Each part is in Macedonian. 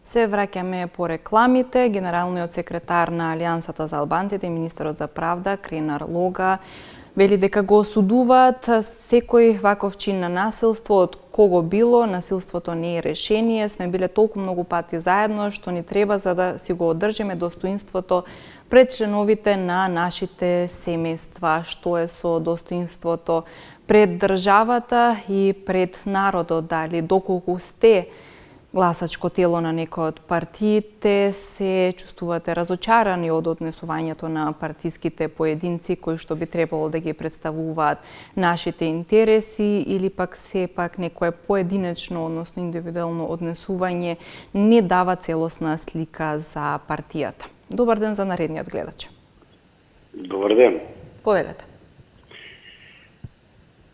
Се враќаме по рекламите. Генералниот секретар на Алијансата за албанците и министерот за правда Кренар Лога вели дека го осудуваат секој ваков чин на насилство, од кого било. Насилството не е решение. Сме биле толку многу пати заедно што ни треба за да си го одржиме достоинството пред членовите на нашите семејства. Што е со достоинството пред државата и пред народот? Дали доколку сте гласачко тело на некој од партиите, се чувствувате разочарани од однесувањето на партиските поединци кои што би требало да ги представуваат нашите интереси, или пак сепак некое поединечно, односно индивидуално однесување не дава целосна слика за партијата? Добар ден за наредниот гледач. Добар ден. Повелете.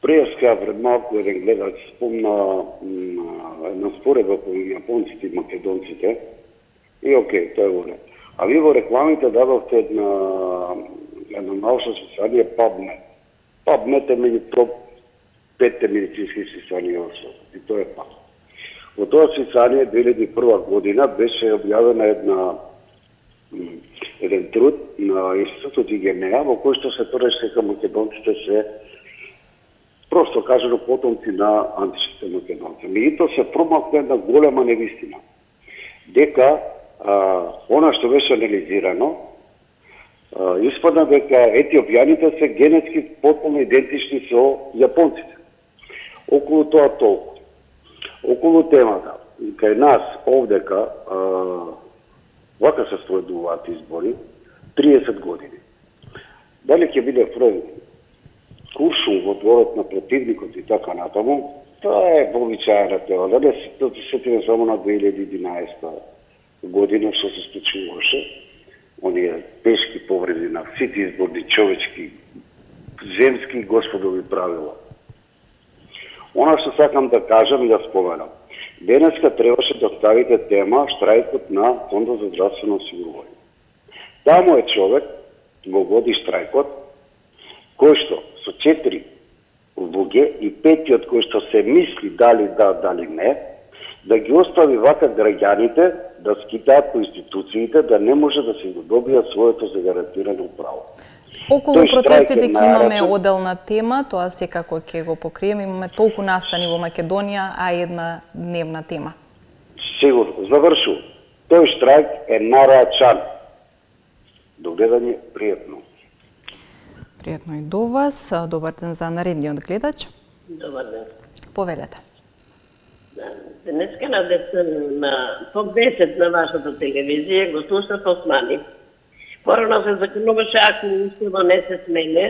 Преска пред малку еден гледач спомна една споредба помеѓу јапонците и македонците. И окей, тоа е во ред. А ви во рекламите дадовте едно научно списание PubMed. PubMed е меѓу топ 5 медицински списанија во светот. И тоа е пак. Во тоа списание 2001 година беше објавена еден труд на Институтот Игенеа во кој што се тврдеше дека македонците се просто кажано потомци на античките македонци. Меѓутоа се промакна една голема невистина. Дека она што беше анализирано, испадна дека етиопјаните се генетски потполно идентични со јапонците. Околу тоа толку. Околу темата, кај нас овдека вака се спроведуваат избори 30 години. Дали ќе биде впреден куршум во дворот на противникот и така натаму, тоа е вообичаена тема. Да не се сетиме само на 2011 година што се случуваше. Оние тешки повреди на сите изборни човечки, земски господови правила. Она што сакам да кажам и да споменам. Денеска требаше да ставите тема штрајкот на Фондот за здравствено осигурување. Таму е човек, го води штрајкот, кој што со 4 луѓе и 5-тиот кој што се мисли дали да, дали не, да ги остави вака граѓаните да скитаат по институциите, да не може да се го добијат своето загарантирано право. Околу протестите ќе имаме оделна тема, тоа секако ќе го покриеме. Имаме толку настани во Македонија, а една дневна тема. Сигурно, завршувам. Тој штрајк е нарачан. До гледање, пријатно. Пријатно и до вас. Добар ден за наредниот гледач. Добар ден. Повелете. Денеска на топ 10 на вашата телевизија го слушав Османи. Порано се закануваше, ако уставо не се смене,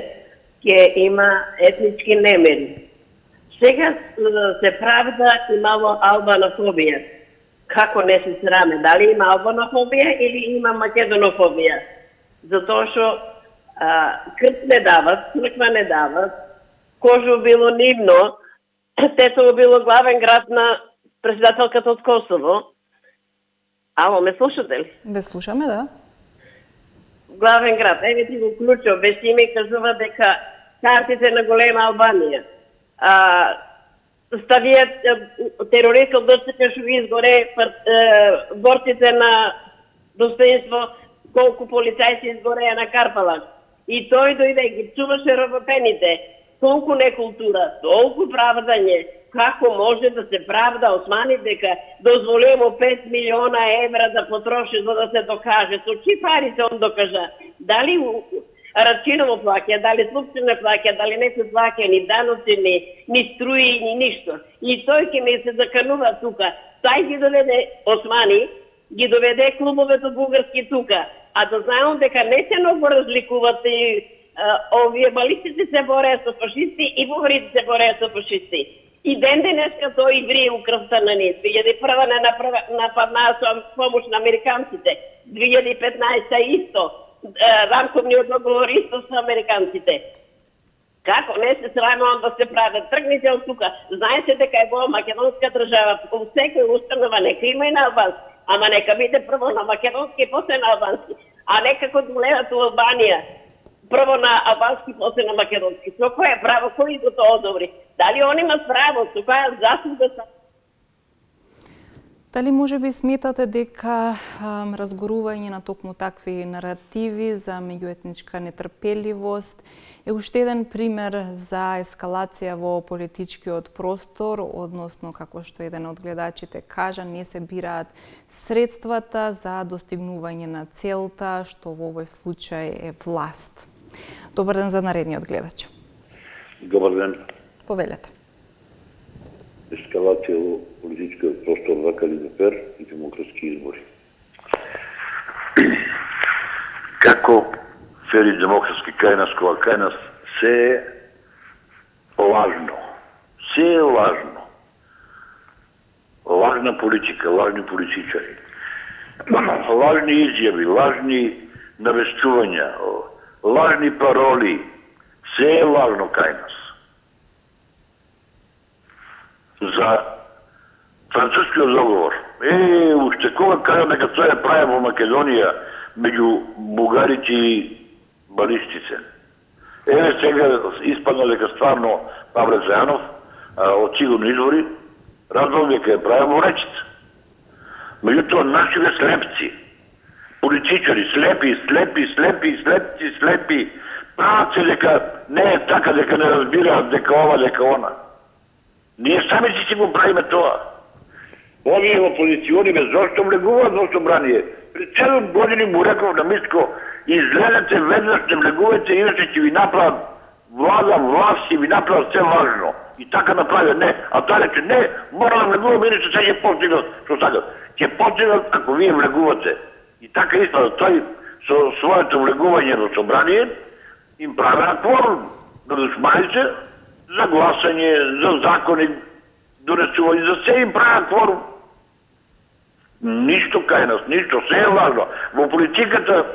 ќе има етнички немери. Сега се правда имало албанофобија. Како не се сраме? Дали има албанофобија или има македонофобија? Затоа што крст не дават, црква не дават, Кожу било нивно, Тетово било главен град на председателката од Косово. Ало, ме слушате ли? Ве слушаме, да. Главен град, еве ти го клучо, без име кажува дека картите на голема Албанија. Ставијат терористот дрците што ги изгоре борците на достоинство, колку полицајци изгореа на Карпалак. И тој дојде ги чуваше робопените. Толку некултура, толку правдање. Како може да се правда Османи дека дозволимо 5 милиона евра да потроши за да се докаже? Со чи пари се он докажа? Дали Рачиново плаќа, дали Слупчина плаќа, дали не се плаќа ни даноци, ни струи, ни ништо. И тој ќе ми се заканува тука. Тај ги доведе Османи, ги доведе клубовето бугарски тука. А да знаем дека не се многу разликуват и овие балистите се бореа со фашисти и бугарите се бореа со фашисти. И ден денеска тој врие у крвта на ние. 2001 не нападнаа со помош на американците. 2015 исто. Рамковниот договор исто со американците. Како не се срамам да се прават? Тргнете од тука. Знаете дека е во македонска држава. Во секој установа нека има и на албански. Ама нека биде прво на македонски, после на албански. А не како гледат у Албанија. Прво на албански, после на македонски. Со кое право, кој го тоа одобри? Дали они имат право, со која заслуга са? Дали може би сметате дека разгорување на токму такви наративи за меѓуетничка нетрпеливост е уште еден пример за ескалација во политичкиот простор, односно, како што еден од гледачите кажа, не се бираат средствата за достигнување на целта, што во овој случај е власт. Добар ден за наредниот гледач. Добар ден. Повелете. Ескалација во политичкиот простор за КДПР и демократски избори. Како вели демократски кај нас, кога кај нас се е лажно. Се е лажно. Лажна политика, лажни политичари. Лажни изјави, лажни навестувања, лажни пароли. Се е лажно кај нас. За францускиот договор. Уште кога кажа дека тоа е прави во Македонија меѓу бугарите и балистице. Сега испадна дека стварно Павле Зајанов од сигурни извори разбрал дека е прави во речица. Меѓутоа нашите слепци, политичари, слепи, прават се дека не е така, дека не разбираат, дека ова, дека она. Ние сами си го правиме тоа. Овие опозициони зошто влегуваат во собрание. Пред 7 години му реков на Митко, изгледате веднаш, не влегувате, иначе ќе ви направат власт и ви направат се важно. И така направи, не. А таа рече, не, мора да влегуваме, иначе се ќе постигнат, што сакат. Ќе постигнат ако вие влегувате. И така испада, тој со своето влегување во собрание им правеа кворум. Градушманите за гласање, за закони, донесување, за се им правеа кворум. Ништо кај нас, ништо, се е важно. Во политиката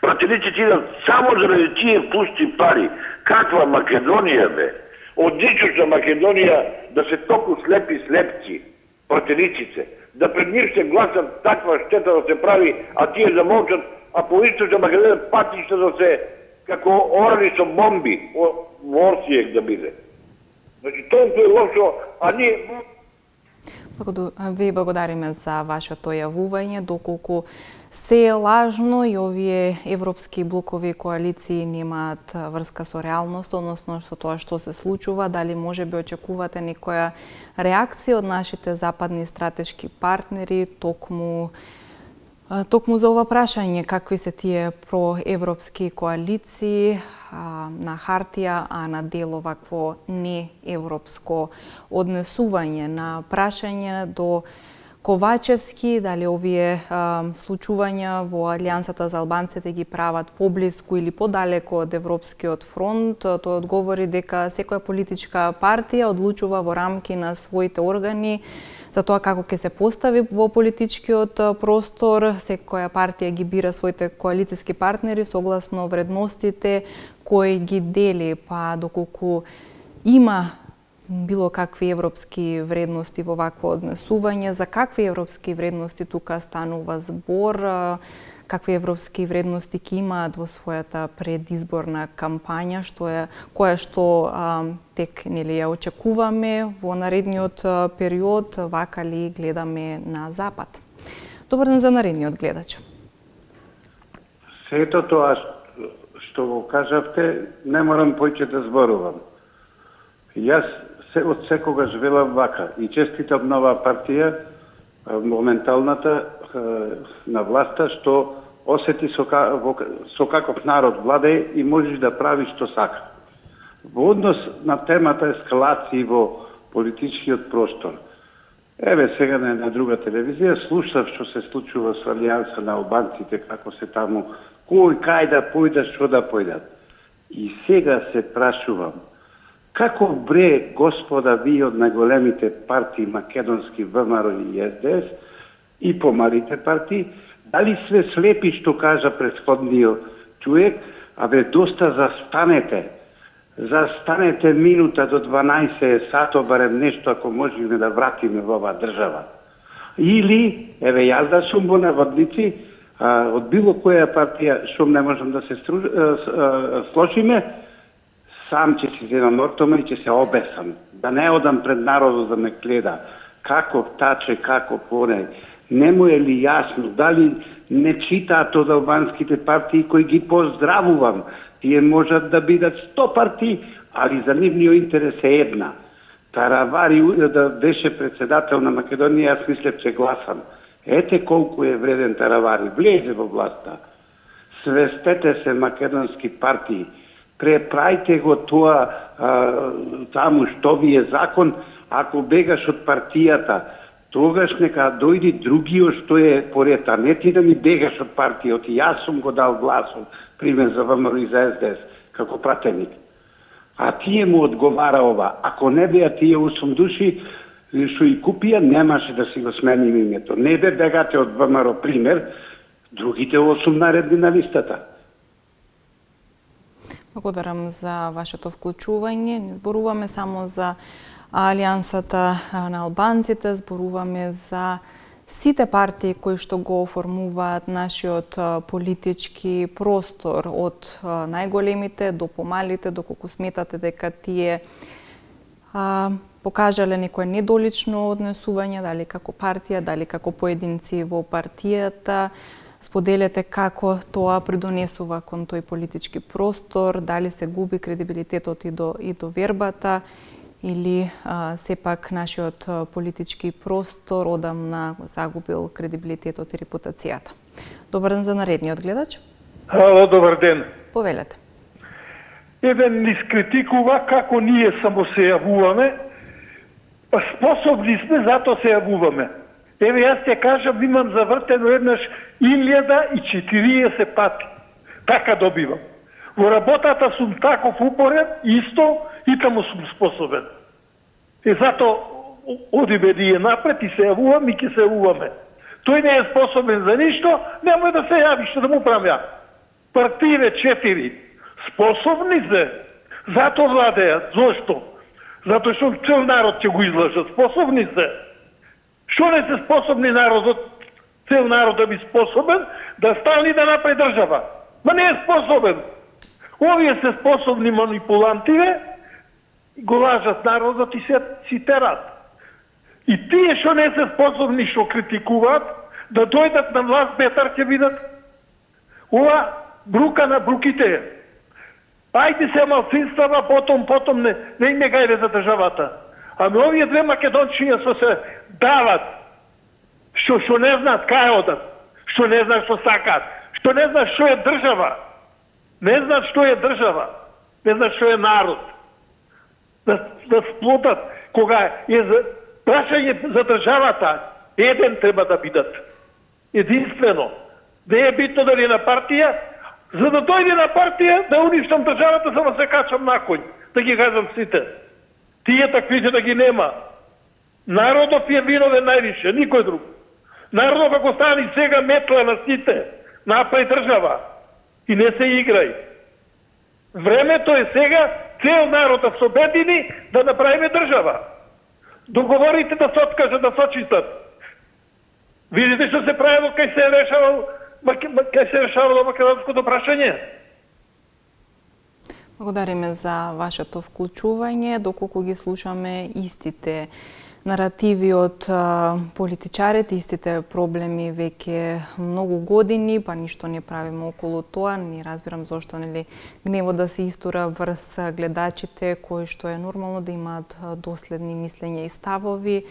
пратениците идат само заради тие пусти пари. Каква Македонија бе? Одлична Македонија да се толку слепци, пратениците, да пред нив се гласат таква штета да се прави, а тие да молчат, а по Источна Македонија патишта да се како орани со бомби во Орсијек да биде. Значи, толку е лошо, а ние... Ви благодариме за вашето јавување, доколку се е лажно и овие европски блокови коалиции немаат врска со реалност, односно со тоа што се случува, дали може би очекувате некоја реакција од нашите западни стратешки партнери токму за ова прашање, какви се тие проевропски коалиции на хартија, а на дело вакво неевропско однесување, на прашање до Ковачевски, дали овие случувања во Алијансата за албанците ги прават поблиску или подалеко од Европскиот фронт. Тој одговори дека секоја политичка партија одлучува во рамки на своите органи за тоа како ќе се постави во политичкиот простор. Секоја партија ги бира своите коалициски партнери согласно вредностите кои ги дели, па доколку има било какви европски вредности во вакво однесување, за какви европски вредности тука станува збор, какви европски вредности ќе имаат во својата предизборна кампања, која што тек нели ја очекуваме во наредниот период, вака ли гледаме на запад. Добар ден за наредниот гледач. Сето тоа што го кажавте, не морам поќе да зборувам. Јас од секогаш велам вака и честитам нова партија, моменталната на власта, што осети со каков народ владе и можеш да правиш што сака. Во однос на темата ескалации во политичкиот простор. Еве сега на друга телевизија слушав што се случува со Алијанса на албанците, како се таму, кој кај да појдат, што да појдат. И сега се прашувам, како бре, господа, ви од најголемите партии македонски ВМРО и СДС и помалите партии, дали све слепи што кажа претходниот човек, доста застанете минута до 12 сато, барем нешто ако можеме да вратиме во оваа држава. Или, еве јас да сум во наводници, од било која партија што не можам да се сложиме, сам ќе си земам ортома и ќе се обесам. Да не одам пред народот да ме гледа. како таче, како поне. Не му е ли јасно, дали не читаат од албанските партии кои ги поздравувам. Тие можат да бидат 100 партии, али за нивниот интерес е една. Таравари да беше председател на Македонија, јас мислев че гласам. Ете колку е вреден Таравари, влезе во власта. Свестете се македонски партии, преправите го тоа таму што ви е закон, ако бегаш од партијата, тогаш нека дојди другиот што е поред, а не ти да ми бегаш од партијот. Јас сум го дал гласом, пример за ВМРО и за СДС, како пратеник. А тие му одговара ова. Ако не беа тие 8 души што и купија, немаше да си го сменим името. Не бе бегате од ВМРО, пример, другите 8 наредни на листата. Благодарам за вашето вклучување. Не зборуваме само за Алијансата на албанците, зборуваме за сите партии кои што го оформуваат нашиот политички простор, од најголемите до помалите, доколку сметате дека тие покажале некое недолично однесување, дали како партија, дали како поединци во партијата. Споделете како тоа придонесува кон тој политички простор, дали се губи кредибилитетот и до вербата, или сепак нашиот политички простор одамна загубил кредибилитетот и репутацијата. Добар ден за наредниот гледач. Ало, добар ден. Повелете. Еден ни скритикува како ние само се јавуваме, па способни сме, затоа се јавуваме. Еве, јас ќе кажам, имам завртено еднаш 1040 пати. Така добивам. Во работата сум таков упорен, исто, и таму сум способен. И затоа одиме ние напред и се јавуваме и ќе се јавуваме. Тој не е способен за ништо, немој да се јави, што да му правам ја. Партије 4 способни се, затоа владеат. Зошто? Затоа што цел народ ќе го излажат. Способни се. Што не се способни народот, цел народ да би способен, да стане да направи држава. Ма не е способен. Овие се способни манипулантиве, го лажат народот и си терат. И тие што не се способни, што критикуваат, да дојдат на власт, бетар ќе видат. Ова брука на бруките. Ајде се малцинствава, потом не им е гајде за државата. Ами овие две македончиња што се дават, што не знаат кај одат, што не знаат што сакаат, што не знаат што е држава, не знаат што е држава, не знаат што е народ. Да сплотат, кога е за прашање за државата, еден треба да бидат. Единствено. Не е битно дали е на партија, за да дојде на партија, да уништам државата, само се качам на коњ, да ги кажам сите. Тие таквите да ги нема. Народот е виновен највише, никој друг. Народот ако стани сега метла на сите, направи држава и не се играј. Времето е сега, цел народ да се обедини да направиме држава. Договорите да се откажат, да се очистат. Видите што се правило кај се решавало македонското прашање. Благодариме за вашето вклучување, доколку ги слушаме истите наративи од политичарите, истите проблеми веќе многу години, па ништо не правиме околу тоа. Не разбирам зошто гневот да се истура врз гледачите, кои што е нормално да имаат доследни мислења и ставови.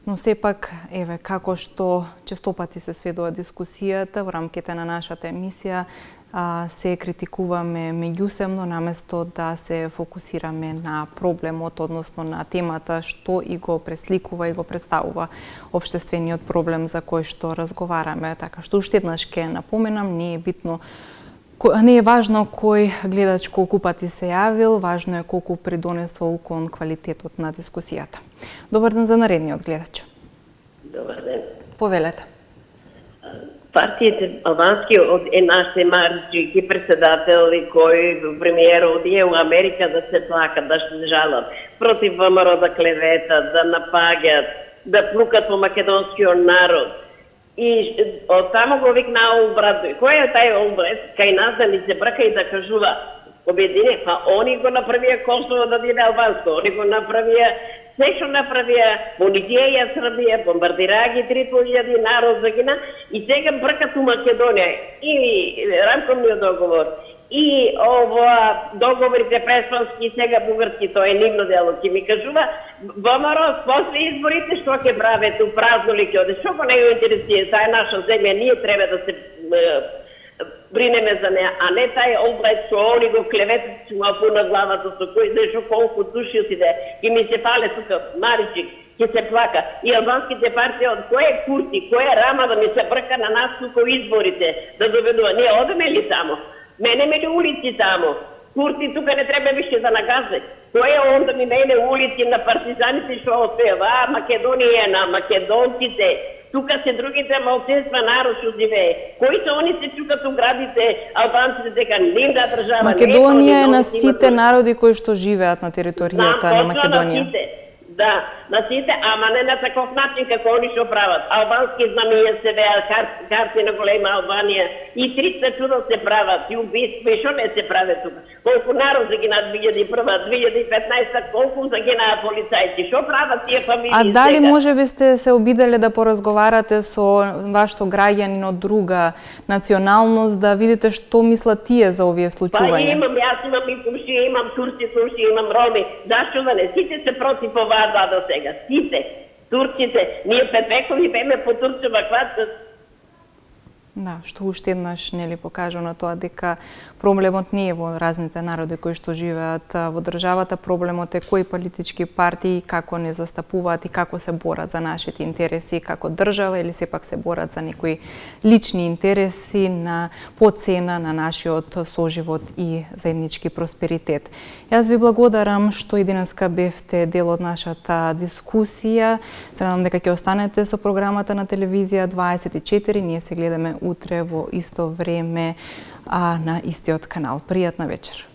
Но сепак, еве, како што честопати се сведува дискусијата во рамките на нашата емисија, се критикуваме меѓусебно наместо да се фокусираме на проблемот, односно на темата што и го пресликува и го представува општествениот проблем за кој што разговараме. Така што уште еднаш ќе напоменам, не е важно кој гледач колку пати се јавил, важно е колку придонесол кон квалитетот на дискусијата. Добар ден за наредниот гледач. Добар ден. Повелете. Партиите албански од нашите марчики председател и кој премиер одие у Америка да се плакат, да се жалат против ВМРО, да клеветат, да напаѓат, да плукат по македонскиот народ. И од тамо го викна Олбрат. Кој е тај Олбрат? Кај нас да ни се брка и да кажува обедине, па они го направија Косово да биде албанско, они го направија се што направија, понизија Србија, бомбардираа ги 3.000 народ загина и сега бркат у Македонија и рамковниот договор и договорите преспански сега бугарски, тоа е нивно дело, ќе ми кажува ВМРО после изборите што ќе праве ту празно ли ќе оде, што го не го интересира, таа е наша земја, ние треба да се бринеме за неа, а не тај облај што они го клеветат, што му пуна главата со кој знае што колку души си де, и ми се пале тука Маричик, ќе се плака. И албанските партии од кој е Курти, кој е Рама да ми се брка на нас тука изборите, да доведува. Ние одеме ли тамо? Мене ли улици тамо? Курти тука не треба више да нагазе. Кој е он да ми мене улици на партизаните што отпева? Македонија на македонците. Тука се другите малцинства народ што живее. Кои се они се чукат у градите, албанците дека нивна држава. Македонија е на сите народи кои што живеат на територијата на Македонија. Да, на сите, ама не на таков начин како они што прават. Албански знамија се веат, карти на голема Албанија и 300 чуда се прават, и убиства, и што не се прави тука. Колку народ загинат 2001, 2015, колку загинаа полицајци, што прават тие фамилии? А дали можеби сте се обиделе да поразговарате со ваш сограѓанин од друга националност, да видите што мислат тие за овие случувања? Па имам, јас имам и комшија, имам турци, имам роми, зашто да не? Сите се против оваа до сега. Сите, турците, ние петвекови беме по Турцева хватат. Да, што уште еднаш нели покажа на тоа дека проблемот не е во разните народи кои што живеат во државата, проблемот е кои политички партии како не застапуваат и како се борат за нашите интереси како држава или сепак се борат за некои лични интереси на поцена на нашиот соживот и заеднички просперитет. Јас ви благодарам што и денеска бевте дел од нашата дискусија. Се надам дека ќе останете со програмата на телевизија 24. Ние се гледаме утре во исто време на истиот канал. Пријатна вечер.